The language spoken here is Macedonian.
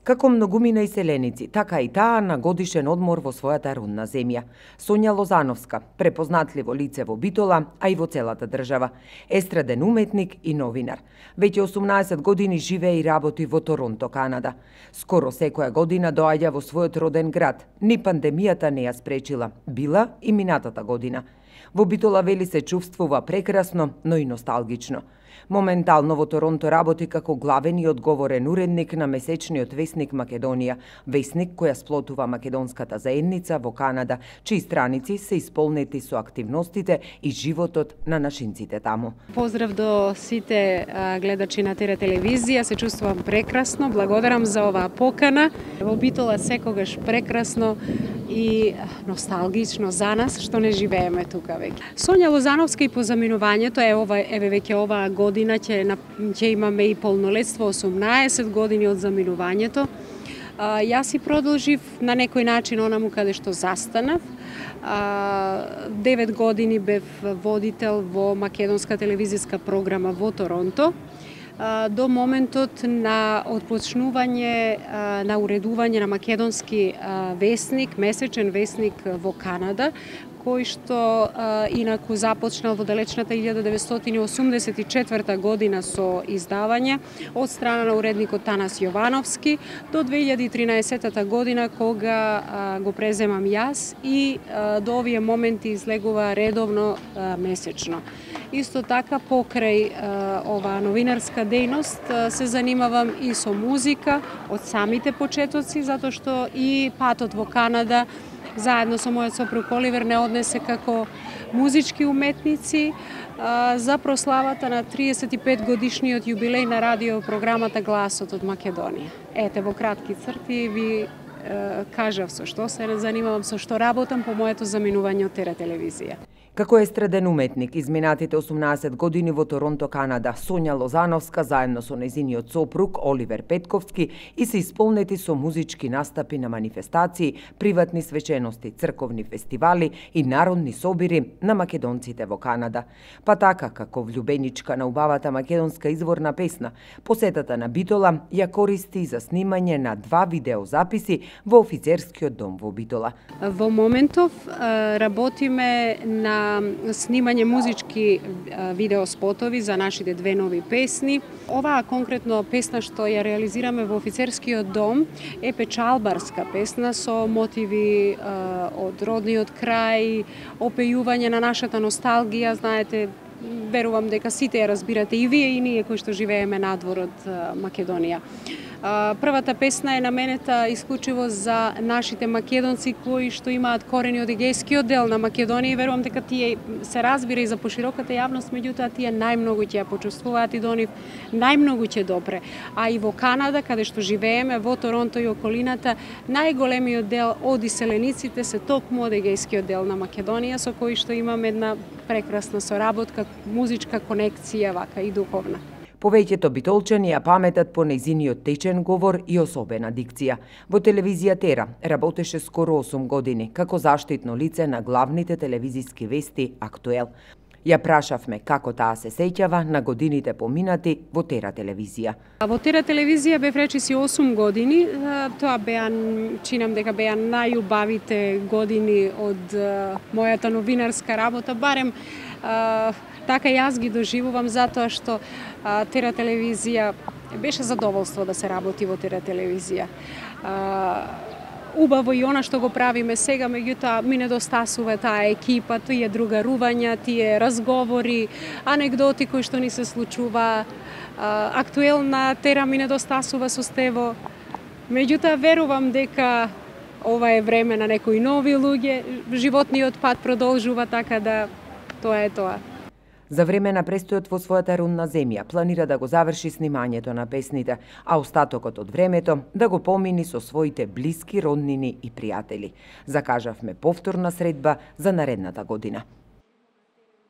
Како многумина иселеници, така и таа на годишен одмор во својата родна земја. Сонја Лозановска, препознатливо лице во Битола, а и во целата држава. Естраден уметник и новинар. Веќе 18 години живее и работи во Торонто, Канада. Скоро секоја година доаѓа во својот роден град. Ни пандемијата не ја спречила. Била и минатата година. Во Битола вели се чувствува прекрасно, но и носталгично. Моментално во Торонто работи како главен и одговорен уредник на месечниот весник Македонија, весник која сплотува македонската заедница во Канада, чии страници се исполнети со активностите и животот на нашинците таму. Поздрав до сите гледачи на ТР телевизија, се чувствувам прекрасно, благодарам за оваа покана. Во Битола секогаш прекрасно и носталгично за нас што не живееме тука веќе. Сонја Лозановска и по заминувањето еве веќе оваа година ќе имаме и полнолетство, 18 години од заминувањето. Јас и продолжив на некој начин онаму каде што застанав. 9 години бев водител во македонска телевизиска програма во Торонто, до моментот на отпочнување на уредување на македонски весник, месечен весник во Канада, кој што инаку започнал во далечната 1984 година со издавање од страна на уредникот Танас Јовановски до 2013 година кога го преземам јас и до овие моменти излегува редовно месечно. Исто така покрај оваа новинарска дејност се занимавам и со музика од самите почетоци, затоа што и патот во Канада заедно со мојот сопруг Оливер не однесе како музички уметници за прославата на 35 годишниот јубилеј на радиопрограмата Гласот од Македонија. Ете, во кратки црти ви кажав со што се занимавам, со што работам по моето заминување од ТР телевизија. Како естраден уметник, изминатите 18 години во Торонто, Канада, Сонја Лозановска заедно со нејзиниот сопруг Оливер Петковски и се исполнети со музички настапи на манифестации, приватни свечености, црковни фестивали и народни собири на македонците во Канада. Па така, како влюбеничка на убавата македонска изворна песна, посетата на Битола ја користи за снимање на 2 видеозаписи во офицерскиот дом во Битола. Во моментов работиме на снимање музички видеоспотови за нашите 2 нови песни. Оваа конкретно песна што ја реализираме во офицерскиот дом е печалбарска песна со мотиви од родниот крај, опејување на нашата носталгија. Знаете, верувам дека сите ја разбирате и вие и ние кои што живееме надвор од Македонија. Првата песна е наменета исклучиво за нашите македонци кои што имаат корени од егејскиот дел на Македонија и верувам дека тие се разбира и за пошироката јавност, меѓутоа тие најмногу ќе ја почувствуваат и до нив најмногу ќе допре. А и во Канада, каде што живееме, во Торонто и околината, најголемиот дел од иселениците се токму од егејскиот дел на Македонија, со кои што имаме една прекрасна соработка, музичка конекција, вака и духовна. Повеќето битолчани ја паметат по нејзиниот течен говор и особена дикција. Во телевизија Тера работеше скоро 8 години како заштитно лице на главните телевизиски вести Актуел. Ја прашавме како таа се сеќава на годините поминати во Тера телевизија. Во Тера телевизија бев речиси 8 години. Тоа чинам дека беа најубавите години од мојата новинарска работа, барем така јас ги доживувам, затоа што Тера телевизија беше задоволство да се работи во Тера телевизија. Убаво и она што го правиме сега, меѓутоа ми недостасува таа екипа, тие другарувања, тие разговори, анегдоти кои што ни се случува. Актуел на Тера ми недостасува со Стево. Меѓутоа верувам дека ова е време на некои нови луѓе, животниот пат продолжува, така да тоа е тоа. За време на престојот во својата родна земја планира да го заврши снимањето на песните, а остатокот од времето да го помини со своите блиски роднини и пријатели. Закажавме повторна средба за наредната година.